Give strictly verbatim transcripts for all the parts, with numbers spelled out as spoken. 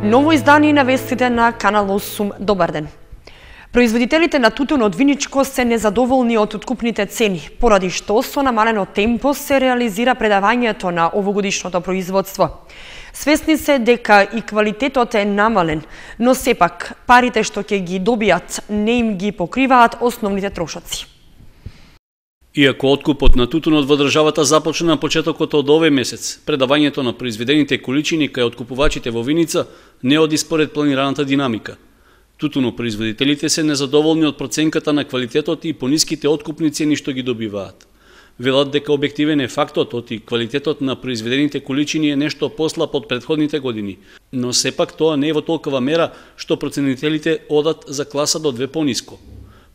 Ново издание на вестите на Канал осум. Добар ден. Производителите на тутун од виничко се незадоволни од откупните цени, поради што со намалено темпо се реализира предавањето на овогодишното производство. Свесни се дека и квалитетот е намален, но сепак парите што ќе ги добијат не им ги покриваат основните трошоци. Иако откупот на тутунот во државата започна на почетокот од овој месец, предавањето на произведените количини кај откупувачите во Виница не оди според планираната динамика. Тутунопроизводителите се незадоволни од проценката на квалитетот и пониските откупни цени што ги добиваат. Велат дека објективен е фактот оти квалитетот на произведените количини е нешто послаб од претходните години, но сепак тоа не е во толкова мера што проценителите одат за класа до две пониско.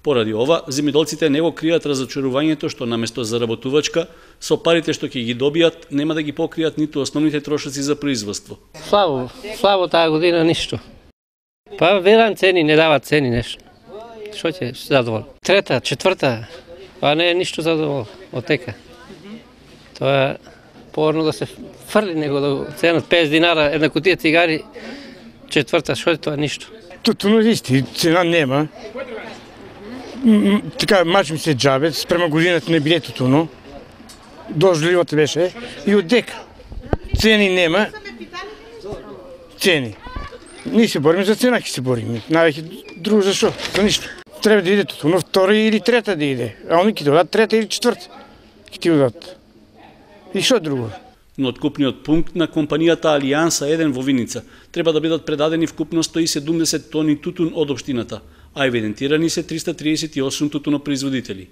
Поради ова, земјоделците не го кријат разочарувањето што наместо заработувачка, со парите што ќе ги добијат, нема да ги покријат ниту основните трошоци за производство. Слабо, слабо таа година ништо. Па верам цени, не дават цени нешто. Што ќе задовол? Трета, четврта, па не е ништо задовол од тека. Тоа е порно да се фрли него до цена петдесет динара една кутија цигари, четврта, што е тоа ништо. Тутуно исти, цена нема. Така мачим се џабе, спрема годината не биле тутуно. Дожливото беше и од дека. Цени нема. Цени. Ние се бориме за цена, ќе се бориме. Највеќе друго за шо? За ништо. Треба да иде тутуно втора или трета да иде. А они ќе додат трета или четврта. Ќе ти додат. И шо друго? Но откупниот пункт на компанијата Алијанса еден во Виница треба да бидат предадени вкупно сто и седумдесет тони тутун од општината, а евидентирани се триста триесет и осум тутунопроизводители.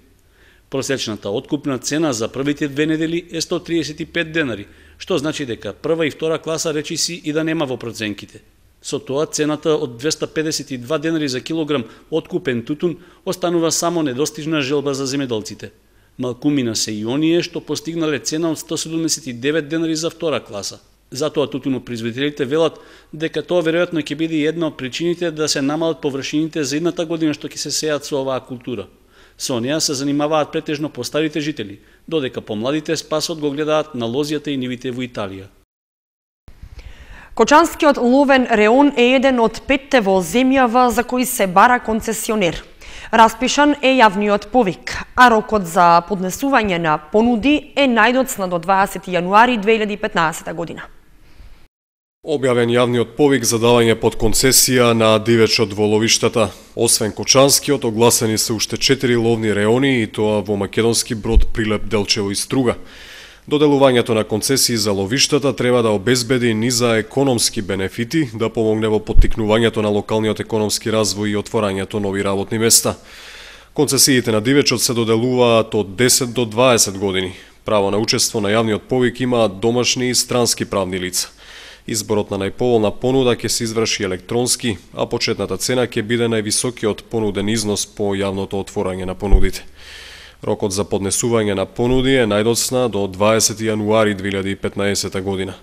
Просечната откупна цена за првите две недели е сто триесет и пет денари, што значи дека прва и втора класа речиси и да нема во проценките. Со тоа цената од двеста педесет и два денари за килограм откупен тутун останува само недостижна желба за земјоделците. Малкумина се и оние што постигнале цена од сто седумдесет и девет денари за втора класа. Затоа тутунопроизводителите велат дека тоа веројатно ќе биде една од причините да се намалат површините за едната година што ќе се сеат со оваа култура. Со неа се занимаваат претежно постарите жители, додека помладите спасот го гледаат на лозијата и нивите во Италија. Кочанскиот ловен реон е еден од петте во земјава за кои се бара концесионер. Распишан е јавниот повик, а рокот за поднесување на понуди е најдоцна до дваесети јануари две илјади и петнаесета година. Објавен јавниот повик за давање под концесија на дивечот во ловиштата. Освен Кочанскиот, огласени се уште четири ловни реони и тоа во Македонски Брод, Прилеп, Делчево и Струга. Доделувањето на концесии за ловиштата треба да обезбеди низа економски бенефити, да помогне во поттикнувањето на локалниот економски развој и отворањето нови работни места. Концесиите на дивечот се доделуваат од десет до дваесет години. Право на учество на јавниот повик имаат домашни и странски правни лица. Изборот на најповолна понуда ќе се изврши електронски, а почетната цена ќе биде највисокиот понуден износ по јавното отворање на понудите. Рокот за поднесување на понуди е најдоцна до дваесети јануари две илјади и петнаесета година.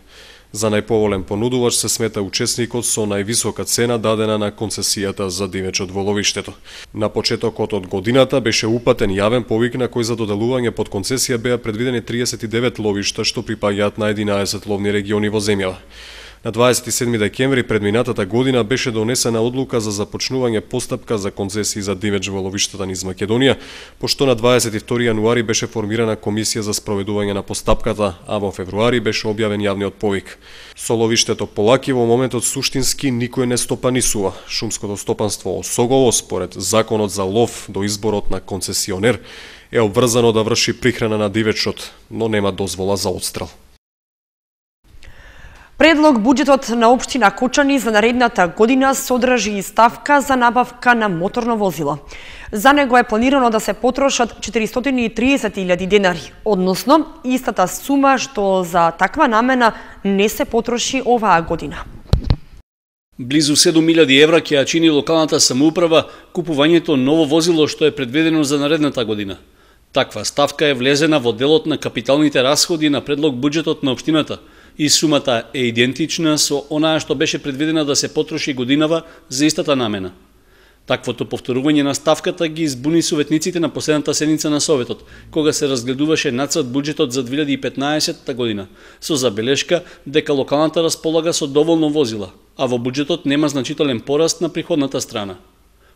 За најповолен понудувач се смета учесникот со највисока цена дадена на концесијата за дивечот во ловиштето. На почетокот од годината беше упатен јавен повик на кој за доделување под концесија беа предвидени триесет и девет ловишта што припаѓаат на единаесет ловни региони во земјава. На дваесет и седми декември предминатата година беше донесена одлука за започнување постапка за концесии за дивеч во ловиштата низ Македонија, пошто на дваесет и втори јануари беше формирана комисија за спроведување на постапката, а во февруари беше објавен јавниот повик. Со ловиштето Полаки во моментот суштински никој не стопанисува. Шумското стопанство Осогово, според законот за лов до изборот на концесионер, е обврзано да врши прихрана на дивечот, но нема дозвола за отстрел. Предлог буџетот на општина Кочани за наредната година содржи и ставка за набавка на моторно возило. За него е планирано да се потрошат четиристотини и триесет илјади денари, односно истата сума што за таква намена не се потроши оваа година. Близу седум илјади евра ќе ја чини локалната самоуправа купувањето ново возило што е предвидено за наредната година. Таква ставка е влезена во делот на капиталните расходи на предлог буџетот на општината и сумата е идентична со онаа што беше предвидена да се потроши годинава за истата намена. Таквото повторување на ставката ги избуни советниците на последната седница на Советот, кога се разгледуваше нацрт буџетот за две илјади и петнаесета година, со забелешка дека локалната располага со доволно возила. а во буџетот нема значителен пораст на приходната страна.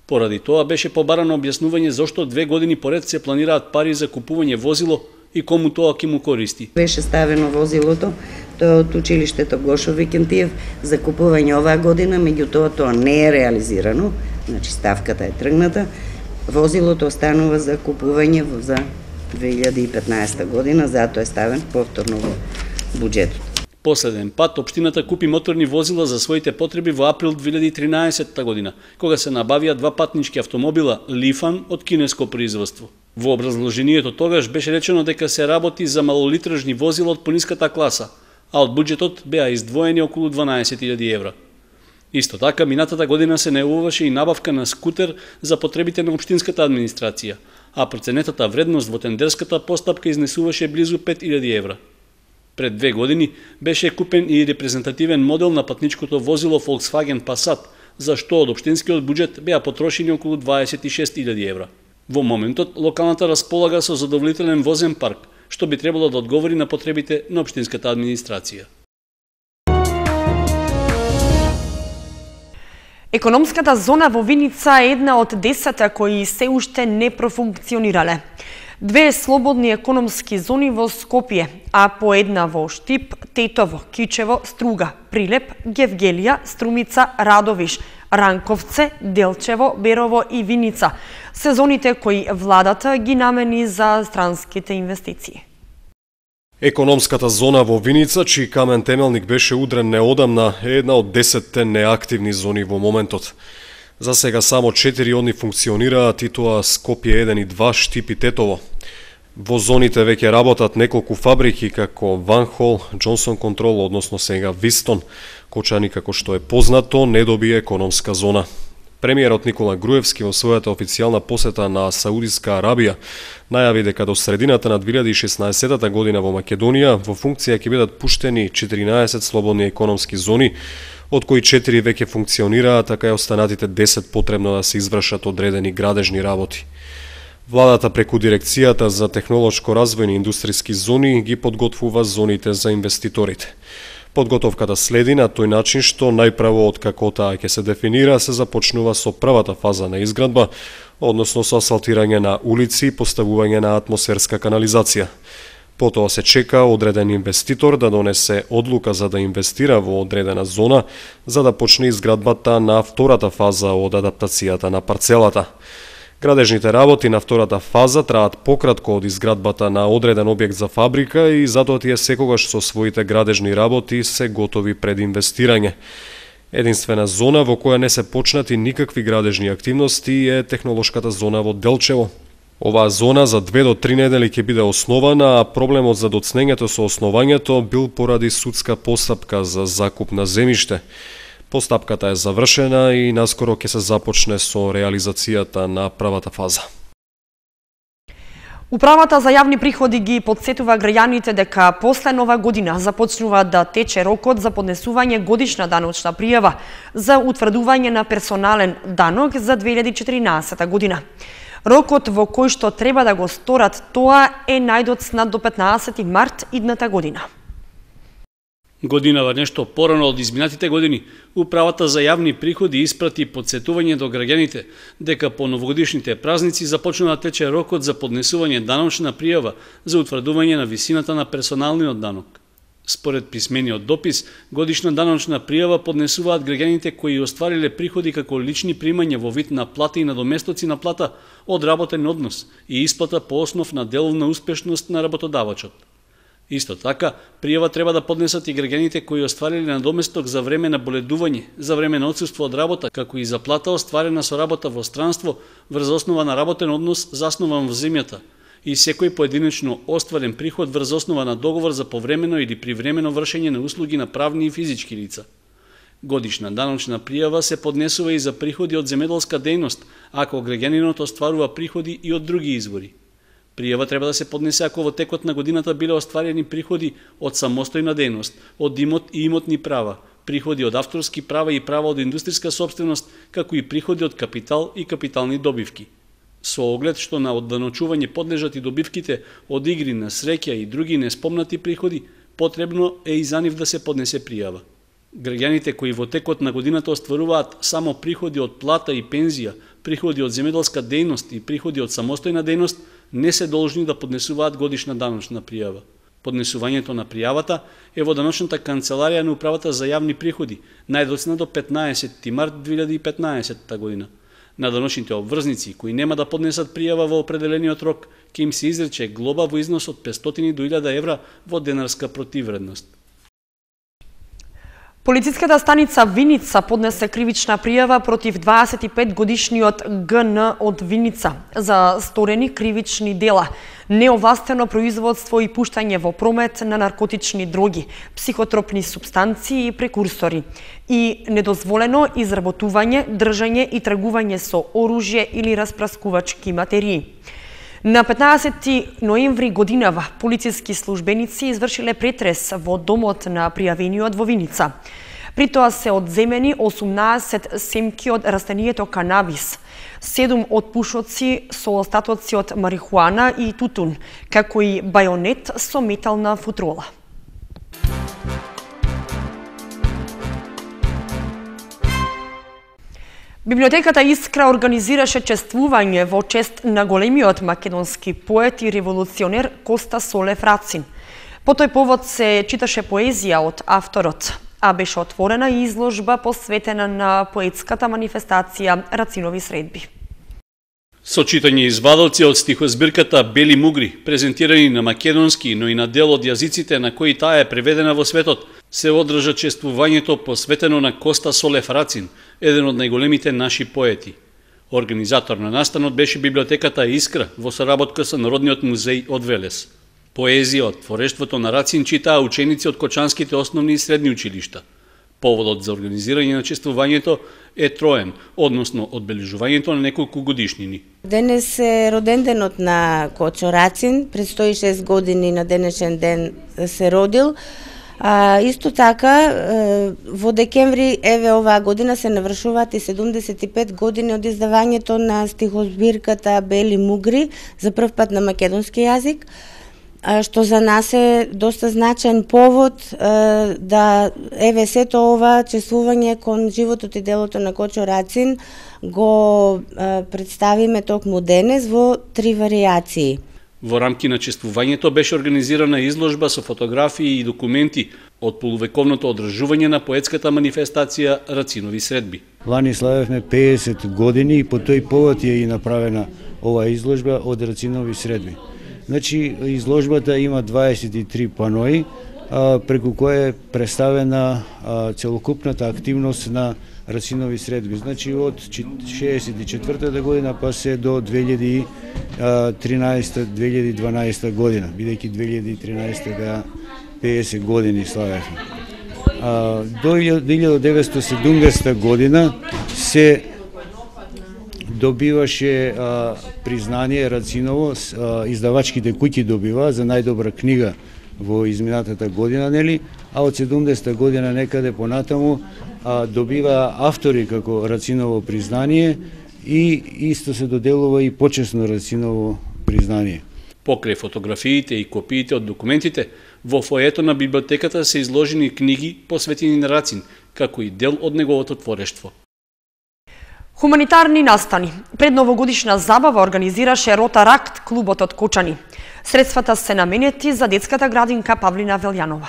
Поради тоа беше побарано објаснување зошто две години поред се планираат пари за купување возило и кому тоа ќе му користи. Беше ставено возилото, тоа од училиштето Гошо Викентиев за купување оваа година, меѓутоа тоа не е реализирано, значи ставката е тргната. Возилото останува за купување за две илјади и петнаесета година, затоа е ставен повторно во буџетот. Последен пат општината купи моторни возила за своите потреби во април две илјади и тринаесетта година, кога се набавија два патнички автомобила Лифан од кинеско производство. Во образложението тогаш беше речено дека се работи за малолитражни возила од пониската класа, а од буџетот беа издвоени околу дванаесет илјади евра. Исто така, минатата година се најавуваше и набавка на скутер за потребите на општинската администрација, а проценетата вредност во тендерската постапка изнесуваше близу пет илјади евра. Пред две години беше купен и репрезентативен модел на патничкото возило Volkswagen Passat, за што од општинскиот буџет беа потрошени околу дваесет и шест илјади евра. Во моментот, локалната располага со задоволителен возен парк, што би требало да одговори на потребите на општинската администрација. Економската зона во Виница е една од десетте кои се уште не профункционирале. Две слободни економски зони во Скопје, а по една во Штип, Тетово, Кичево, Струга, Прилеп, Гевгелија, Струмица, Радовиш, Ранковце, Делчево, Берово и Виница се зоните кои владата ги намени за странските инвестиции. Економската зона во Виница, чиј камен темелник беше удрен неодамна, е една од десетте неактивни зони во моментот. За сега само четири од нив функционираат, и тоа Скопје еден и два, Штип и Тетово. Во зоните веќе работат неколку фабрики како Ванхол, Джонсон Контрол, односно сега Вистон. Кочани, како што е познато, не добија економска зона. Премиерот Никола Груевски во својата официјална посета на Саудиска Арабија најави дека до средината на две илјади и шеснаесетта година во Македонија во функција ќе бидат пуштени четиринаесет слободни економски зони, од кои четири веќе функционираат, така и останатите десет потребно да се извршат одредени градежни работи. Владата преку Дирекцијата за технолошко развојни индустријски зони ги подготвува зоните за инвеститорите. Подготовката следи на тој начин што најпрво од како таа ќе се дефинира се започнува со првата фаза на изградба, односно со асфалтирање на улици и поставување на атмосферска канализација. Потоа се чека одреден инвеститор да донесе одлука за да инвестира во одредена зона, за да почне изградбата на втората фаза од адаптацијата на парцелата. Градежните работи на втората фаза траат пократко од изградбата на одреден објект за фабрика и затоа тие секогаш со своите градежни работи се готови пред инвестирање. Единствена зона во која не се почнати никакви градежни активности е технолошката зона во Делчево. Оваа зона за две до три недели ќе биде основана, а проблемот за доцнењето со основањето бил поради судска постапка за закуп на земјиште. Постапката е завршена и наскоро ќе се започне со реализацијата на првата фаза. Управата за јавни приходи ги подсетува граѓаните дека после нова година започнува да тече рокот за поднесување годишна даночна пријава за утврдување на персонален данок за две илјади и четиринаесетта година. Рокот во кој што треба да го сторат тоа е најдоцна до петнаесети март идната година. Годинава нешто порано од изминатите години, Управата за јавни приходи испрати подсетување до граѓаните дека по новогодишните празници започнува да тече рокот за поднесување даночна пријава за утврдување на висината на персоналниот данок. Според писмениот допис, годишна даночна пријава поднесуваат граѓаните кои оствариле приходи како лични примања во вид на плата и надоместоци на плата од работен однос и исплата по основ на деловна успешност на работодавачот. Исто така, пријава треба да поднесат и граѓаните кои оствариле надоместок за време на боледување, за време на отсуство од работа, како и за плата остварена со работа во странство врз основа на работен однос заснован во земјата, и секој поединечно остварен приход врз основа на договор за повремено или привремено вршење на услуги на правни и физички лица. Годишна даночна пријава се поднесува и за приходи од земјоделска дејност, ако граѓанинот остварува приходи и од други извори. Пријава треба да се поднесе ако во текот на годината биле остварени приходи од самостојна дејност, од имот и имотни права, приходи од авторски права и права од индустријска сопственост, како и приходи од капитал и капитални добивки. Со оглед што на одданочување подлежат и добивките од игри на среќа и други неспомнати приходи, потребно е и за нив да се поднесе пријава. Граѓаните кои во текот на годината остваруваат само приходи од плата и пензија, приходи од земјоделска дејност и приходи од самостојна дејност, не се должни да поднесуваат годишна даночна пријава. Поднесувањето на пријавата е во даночната канцеларија на Управата за јавни приходи, најдоцна до петнаесети март две илјади и петнаесетта година. На даночните обврзници кои нема да поднесат пријава во определениот рок, ќе им се изрече глоба во износ од петстотини до илјада евра во денарска противвредност. Полициската станица Виница поднесе кривична пријава против дваесет и пет годишниот Г Н од Виница за сторени кривични дела, неовластено производство и пуштање во промет на наркотични дроги, психотропни супстанции и прекурсори и недозволено изработување, држање и тргување со оружје или распраскувачки материи. На петнаесети ноември годинава полициски службеници извршиле претрес во домот на пријавениот во Виница. При тоа се одземени осумнаесет семки од растението канабис, седум од пушоци со остатоци од марихуана и тутун, како и бајонет со метална футрола. Библиотеката Искра организираше чествување во чест на големиот македонски поет и револуционер Коста Солев Рацин. По тој повод се читаше поезија од авторот, а беше отворена и изложба посветена на поетската манифестација Рацинови средби. Со читање извадоци од стихозбирката Бели мугри, презентирани на македонски, но и на дел од јазиците на кои таа е преведена во светот, се одржа чествувањето посветено на Коста Солев Рацин, еден од најголемите наши поети. Организатор на настанот беше библиотеката Искра во соработка со Народниот музеј од Велес. Поезија од творештвото на Рацин читаа ученици од кочанските основни и средни училишта. Поводот за организирање на чествувањето е троен, односно одбележувањето на неколку годишнини. Денес е роден денот на Кочо Рацин, пред сто и шест години на денешен ден се родил. А, исто така, во декември еве оваа година се навршуваат и седумдесет и пет години од издавањето на стихозбирката Бели мугри за прв пат на македонски јазик, што за нас е доста значаен повод да еве сето ова чествување кон животот и делото на Кочо Рацин го представиме токму денес во три варијации. Во рамки на чествувањето беше организирана изложба со фотографии и документи од полувековното одржување на поетската манифестација Рацинови средби. Лани славевме пеесет години и по тој повод е и направена оваа изложба од Рацинови средби. Значи, изложбата има дваесет и три панои, а, преку која е представена а, целокупната активност на Рацинови средби. Значи, од шеесет и четвртата година па се до две илјади и тринаесета - две илјади и дванаесета година, бидејќи две илјади и тринаесета беа пеесет години славевме. А, до илјада деветстотини и седумдесета година се добиваше а, признание Рациново, а, издавачките куќи добива за најдобра книга во изминатата година, нели? А од седумдесета година некаде понатаму а, добива автори како Рациново признание и исто се доделува и почесно Рациново признание. Покрај фотографиите и копиите од документите, во фоето на библиотеката се изложени книги посветени на Рацин, како и дел од неговото творештво. Хуманитарни настани. Пред новогодишна забава организираше Ротаракт клубот од Кочани. Средствата се наменети за детската градинка Павлина Велјанова.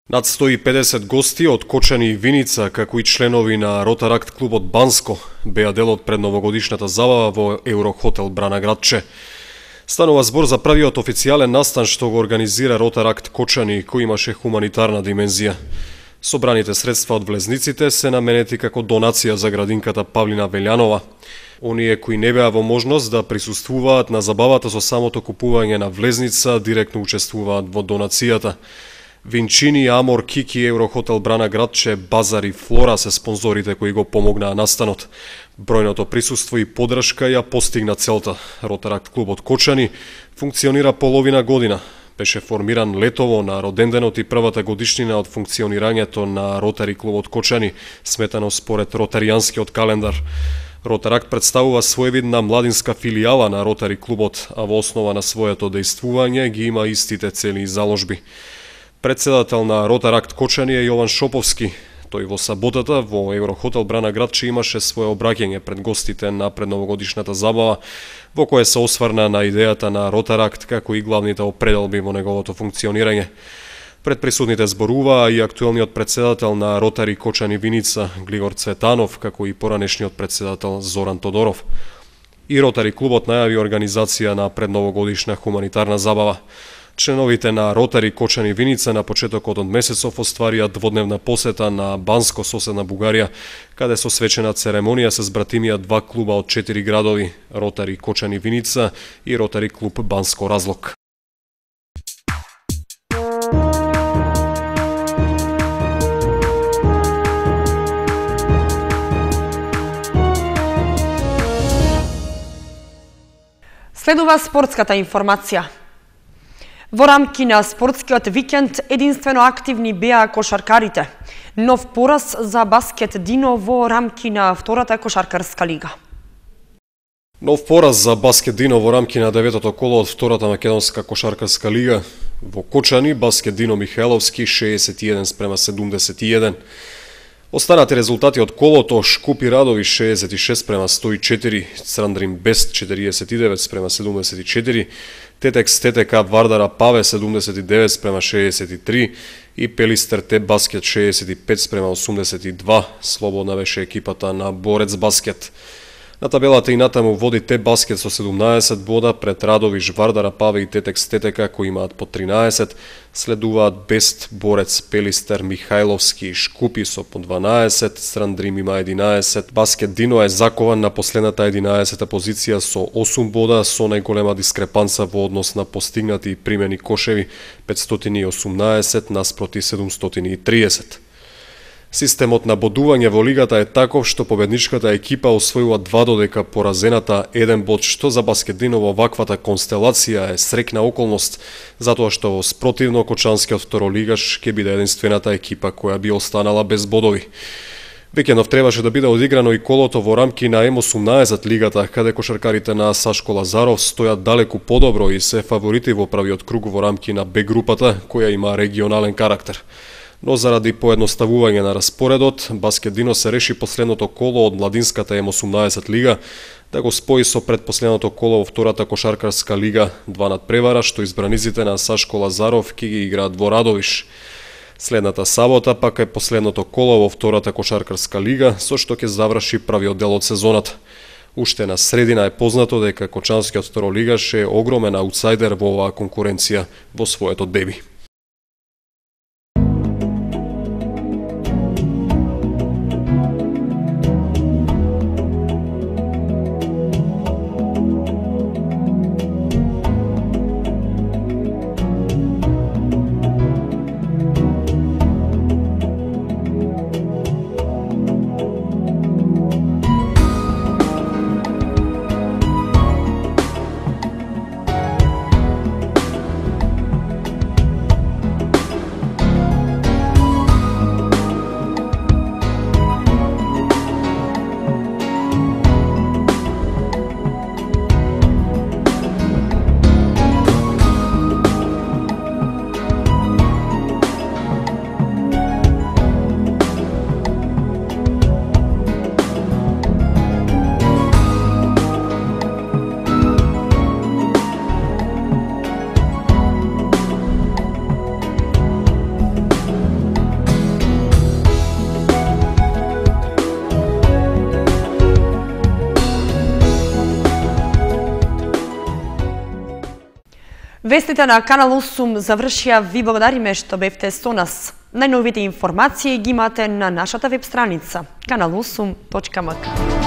Над сто и педесет гости од Кочани и Виница, како и членови на Ротаракт клубот Банско, беа дел од предновогодишната забава во Еврохотел Брана Градче. Станува збор за првиот официјален настан што го организира Ротаракт Кочани, кој имаше хуманитарна димензија. Собраните средства од влезниците се наменети како донација за градинката Павлина Велјанова. Оние кои не беа во можност да присуствуваат на забавата со самото купување на влезница, директно учествуваат во донацијата. Винчини, Амор, Кики, Еврохотел Брана Градче, Базар и Флора се спонзорите кои го помогнаа настанот. Бројното присуство и поддршка ја постигна целта. Ротаракт клубот Кочани функционира половина година. Беше формиран летово на роденденот и првата годишнина од функционирањето на Ротари клубот Кочани, сметано според ротаријанскиот календар. Ротаракт представува своевидна младинска филијала на Ротари клубот, а во основа на своето дејствување ги има истите цели и заложби. Председател на Ротаракт Кочани е Јован Шоповски. Тој во саботата во Еврохотел Брана Градче имаше свое обраќање пред гостите на предновогодишната забава, во кое се осврна на идејата на Ротаракт како и главните определби во неговото функционирање. Пред присутните зборуваа и актуелниот председател на Ротари Кочани Виница Глигор Цветанов, како и поранешниот председател Зоран Тодоров. И Ротари клубот најави организација на предновогодишна хуманитарна забава. Членовите на Ротари Кочани Виница на почетокот од месецов остварија дводневна посета на Банско, соседна Бугарија, каде со свечена церемонија се збратимија два клуба од четири градови – Ротари Кочани Виница и Ротари клуб Банско Разлог. Следува спортската информација. Во рамки на спортскиот викенд единствено активни беа кошаркарите. Нов пораз за Баскет Дино во рамки на втората кошаркарска лига. Нов пораз за Баскет Дино во рамки на деветото коло од втората македонска кошаркарска лига. Во Кочани Баскет Дино Михајловски шеесет и еден спрема седумдесет и еден. Останати резултати од колото: Шкупи Радови шеесет и шест спрема сто и четири, Црандрим Бест четириесет и девет спрема седумдесет и четири, Тетекс ТТК Вардара Паве седумдесет и девет спрема шеесет и три и Пелистер Те Баскет шеесет и пет спрема осумдесет и два. Слободна беше екипата на Борец Баскет. На табелата и натаму води Те Баскет со седумнаесет бода пред Радовиш, Вардара Паве и Тетекс ТТК кои имаат по тринаесет, следуваат Бест, Борец, Пелистер, Михајловски и Шкупи со по дванаесет, Страндрим има единаесет, Баскет Дино е закован на последната единаесета позиција со осум бода, со најголема дискрепанца во однос на постигнати и примени кошеви петстотини и осумнаесет наспроти седумстотини и триесет. Системот на бодување во лигата е таков што победничката екипа освојува два додека поразената еден бод, што за Баскет Дино во ваквата констелација е срекна околност, затоа што во спротивно Кочанскиот второлигаш ќе биде единствената екипа која би останала без бодови. Викендов требаше да биде одиграно и колото во рамки на Ем осумнаесет лигата, каде кошаркарите на Сашко Лазаров стојат далеку подобро и се фаворити во правиот круг во рамки на Б групата, која има регионален карактер. Но заради поедноставување на распоредот, Баскет Дино се реши последното коло од младинската Ем осумнаесет лига да го спои со предпоследното коло во втората кошаркарска лига, два надпревара што избраниците на Сашко Лазаров ќе ги играат во Радовиш. Следната сабота пак е последното коло во втората кошаркарска лига, со што ќе заврши правиот дел од сезоната. Уште на средина е познато дека Кочанскиот второлигаш е огромен аутсайдер во оваа конкуренција во своето деби. Вестите на Канал осум завршија. Ви благодариме што бевте со нас. Најновите информации ги имате на нашата веб страница канал осум точка ем ка.